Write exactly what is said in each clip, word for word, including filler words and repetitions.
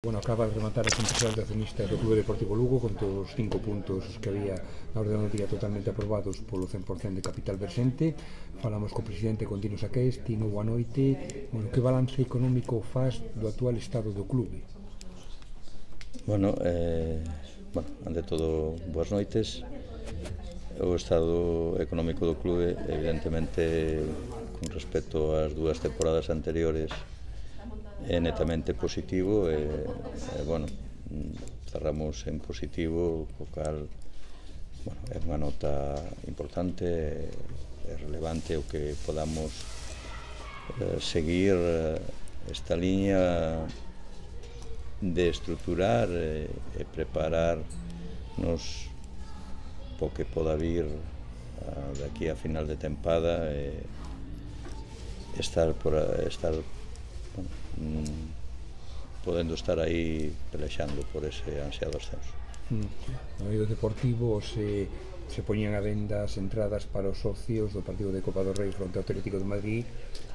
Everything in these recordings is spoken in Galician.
Bueno, acaba de rematar a Consello de Accionistas do Clube Deportivo Lugo con todos os cinco puntos que había na orde do día totalmente aprobados polo cen por cento de capital versente. Falamos co presidente Contino Saqués. Tino, boa noite. Bueno, que balance económico faz do actual estado do clube? Bueno, eh, bueno, ante todo, boas noites. O estado económico do clube, evidentemente, con respecto ás dúas temporadas anteriores, é netamente positivo e, e bueno, cerramos en positivo, o cal, bueno, é unha nota importante e relevante o que podamos eh, seguir esta liña de estruturar e, e preparar nos po que poda vir a, de aquí a final de tempada e estar por a, estar bueno, mm, podendo estar aí pelexando por ese ansiado ascenso. Mm. No medio deportivo se, se poñían a venda as entradas para os socios do partido de Copa do Rei fronte ao Atlético de Madrid,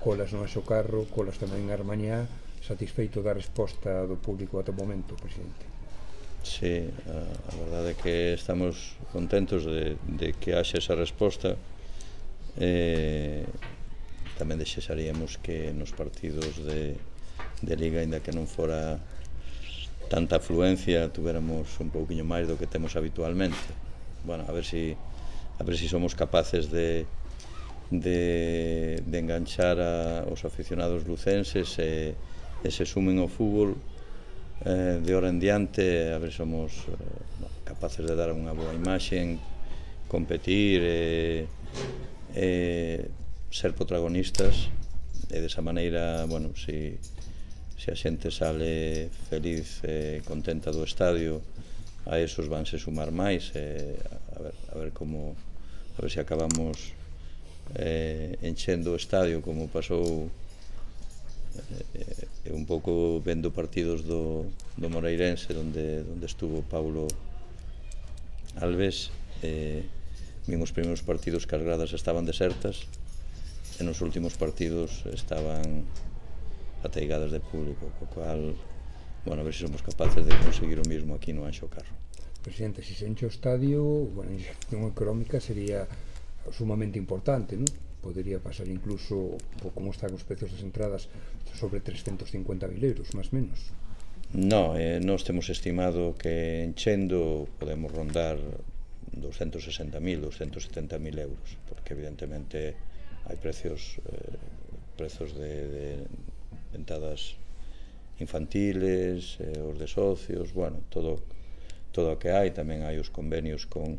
colas no Anxo Carro, colas tamén en Armañá. Satisfeito da resposta do público ata o momento, presidente? Sí, a, a verdade é que estamos contentos de, de que haxe esa resposta. Eh, tamén desexaríamos que nos partidos de, de Liga, ainda que non fora tanta afluencia, tuviéramos un pouquiño máis do que temos habitualmente. Bueno, a ver si, a ver si somos capaces de, de, de enganchar a, os aficionados lucenses e, e se sumen ao fútbol eh, de hora en diante, a ver se somos eh, capaces de dar unha boa imaxe, competir e, e ser protagonistas, e desa maneira, bueno, si, si a xente sale feliz e contenta do estadio, a esos vanse sumar máis e a ver, a ver como a ver se acabamos eh, enchendo o estadio como pasou eh, un pouco vendo partidos do, do Moreirense onde, onde estuvo Paulo Alves. eh, vin os primeiros partidos que as gradas estaban desertas e nos últimos partidos estaban ateigadas de público, co cual, bueno, a ver se somos capaces de conseguir o mismo aquí no Anxo Carro. Presidente, se se enche o estadio, bueno, a inxección económica sería sumamente importante, non? Podería pasar incluso, como están os precios das entradas, sobre trescentos cincuenta mil euros, máis menos. No, eh, nós temos estimado que enchendo podemos rondar doscientos sesenta mil, doscientos setenta mil euros, porque evidentemente hai precios eh, precios de, de entradas infantiles, eh, os de socios, bueno, todo todo o que hai. Tamén hai os convenios con,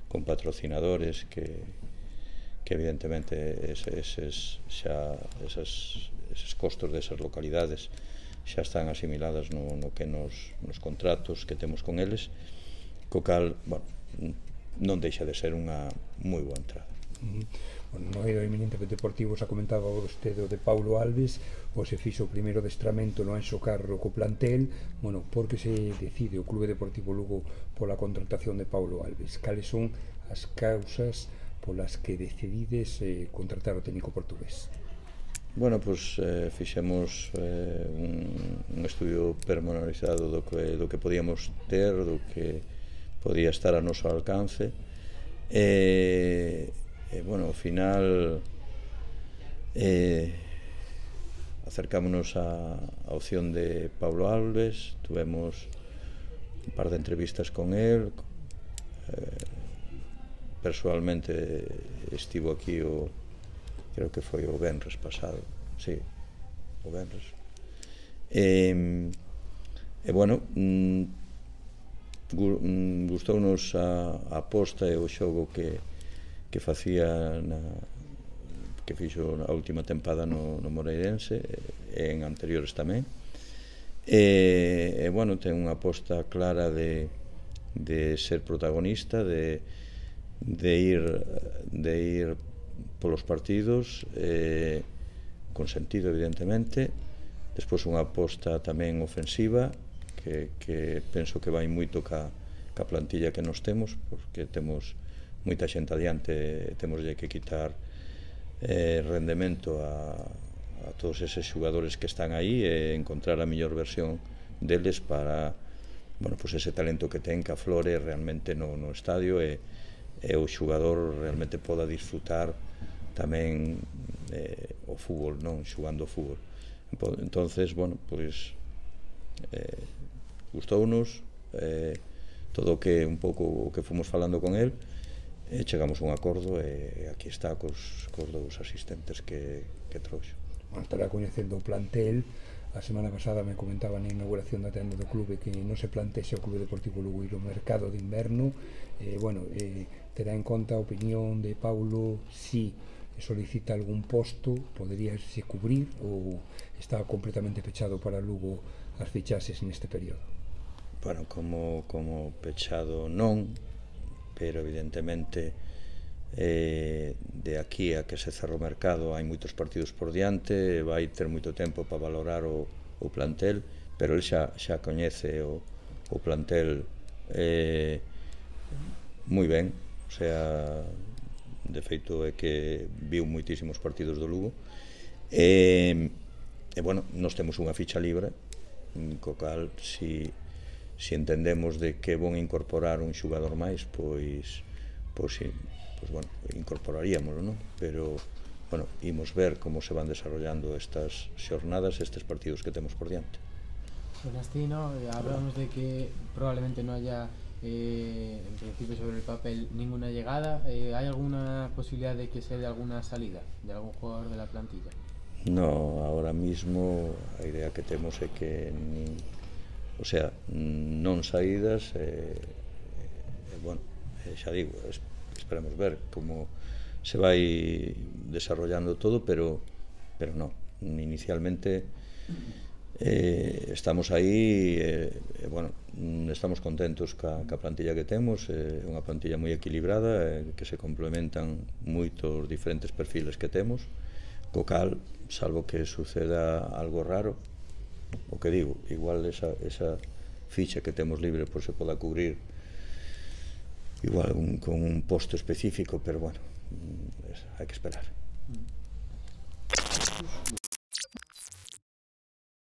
con patrocinadores que, que evidentemente eses, xa, esas, eses costos desas localidades xa están asimiladas no, no que nos, nos contratos que temos con eles, co cal, bueno, non deixa de ser unha moi boa entrada. Uh -huh. Bueno, no eido eminentemente deportivo xa comentaba vostede o de Paulo Alves, o se fixo o primeiro adestramento no Anxo Carro co plantel. Bueno, por que se decide o Clube Deportivo Lugo pola contratación de Paulo Alves? Cales son as causas polas que decidides eh, contratar o técnico portugués? Bueno, pois eh, fixemos eh, un, un estudio pormenorizado do que, do que podíamos ter, do que podía estar a noso alcance e, e bueno, ao final eh, acercámonos á opción de Paulo Alves. Tuvemos un par de entrevistas con él, eh, personalmente estivo aquí o creo que foi o venres pasado, sí, o venres e, e bueno, gustounos a, a aposta e o xogo que, que facía na, que fixo a última tempada no, no Moreirense e en anteriores tamén e, e bueno, ten unha aposta clara de, de ser protagonista, de, de ir de ir polos partidos eh, con sentido, evidentemente. Despois unha aposta tamén ofensiva que, que penso que vai moito ca, ca plantilla que nos temos, porque temos moita xente adiante, temos que quitar eh, rendemento a, a todos eses xogadores que están aí e encontrar a mellor versión deles para, bueno, pues ese talento que ten que aflore realmente no, no estadio e, e o xogador realmente poda disfrutar tamén eh, o fútbol, non? Xugando o fútbol. Entonces, bueno, pois eh, gustounos eh, todo o que un pouco o que fomos falando con el, e chegamos a un acordo e aquí está cos, cos dous asistentes que, que trouxo. Bueno, estará coñecendo o plantel. A semana pasada me comentaban na inauguración da tenda do clube que non se plantexe o Clube Deportivo Lugo ir ao mercado de inverno. Eh, bueno, eh, terá en conta a opinión de Paulo si solicita algún posto, poderíase cubrir ou está completamente pechado para Lugo as fichaxes neste período? Bueno, como, como pechado non, pero evidentemente eh, de aquí a que se cerra o mercado hai moitos partidos por diante, vai ter moito tempo para valorar o, o plantel, pero el xa, xa coñece o, o plantel eh, moi ben, o sea, de feito é que viu moitísimos partidos do Lugo e, e bueno, nos temos unha ficha libre co cal, si si entendemos de que bon incorporar un xogador máis, pois pois si, pois bueno, incorporaríamoslo, non? Pero, bueno, imos ver como se van desarrollando estas xornadas, estes partidos que temos por diante. Celestino, hablamos de que probablemente no haya, eh, en principio sobre el papel, ninguna llegada. Eh, ¿Hay alguna posibilidad de que se dé alguna salida de algún jugador de la plantilla? No, ahora mismo a idea que temos é que nin, o sea, non saídas e, eh, bueno, eh, xa digo, es, esperemos ver como se vai desarrollando todo, pero pero non, inicialmente eh, estamos aí e, eh, bueno, estamos contentos ca, ca plantilla que temos, é eh, unha plantilla moi equilibrada, eh, que se complementan moitos diferentes perfiles que temos, co cal, salvo que suceda algo raro, o que digo, igual esa, esa ficha que temos libre pois se poda cubrir igual un, con un posto específico, pero bueno, hai que esperar.